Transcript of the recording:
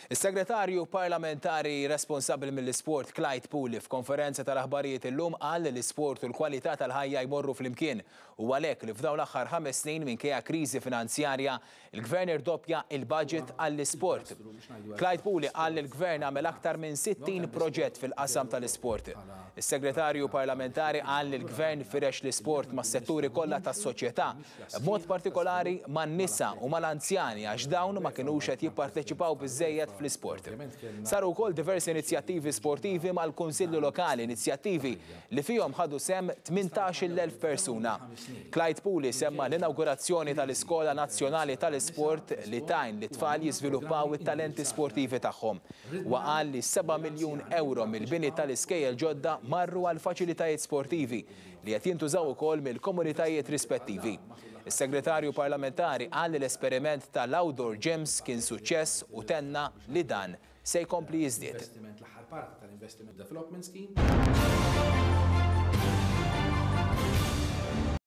Is-Segretarju Parlamentari responsabbli mill-Isport Clyde Puli f'konferenza tal-aħbarijiet illum qal li l-isport u l-kwalità tal-ħajja jmorru flimkien u għalhekk li f'dawn l-aħħar ħames snin minkejja kriżi finanzjarja l-Gvern irdoppja il-budget għall-isport. Clyde Puli qal li l-Gvern għamel aktar minn 60 proġett fil-qasam tal-isport. Is-Segretarju Parlamentari qal li l-Gvern firex l-isport mas-setturi kollha tas-soċjetà b'mod partikolari man-nisa u mal-anzjani għax dawn ma kinux qed jipparteċipaw biżżejjed fl-isport. Saru wkoll diversi inizjattivi sportivi mal-Kunsilli Lokali, inizjattivi li fihom ħadu sehem 18,000 persuna. Clyde Puli semma l-inawgurazzjoni tal-Iskola Nazzjonali tal-Isport li tgħin lit-tfal jiżviluppaw it-talenti sportivi tagħhom. Huwa qal li seba' miljun ewro mill-bini tal-iskejjel ġodda marru għal faċilitajiet sportivi li qed jintużaw ukoll mill-komunitajiet rispettivi. Is-Segretarju Parlamentari qal li l-esperiment tal-outdoor gyms kien suċċess u tenna li dan se jkompli jiżdied. L-aħħar parti tal-Investiment Development Scheme.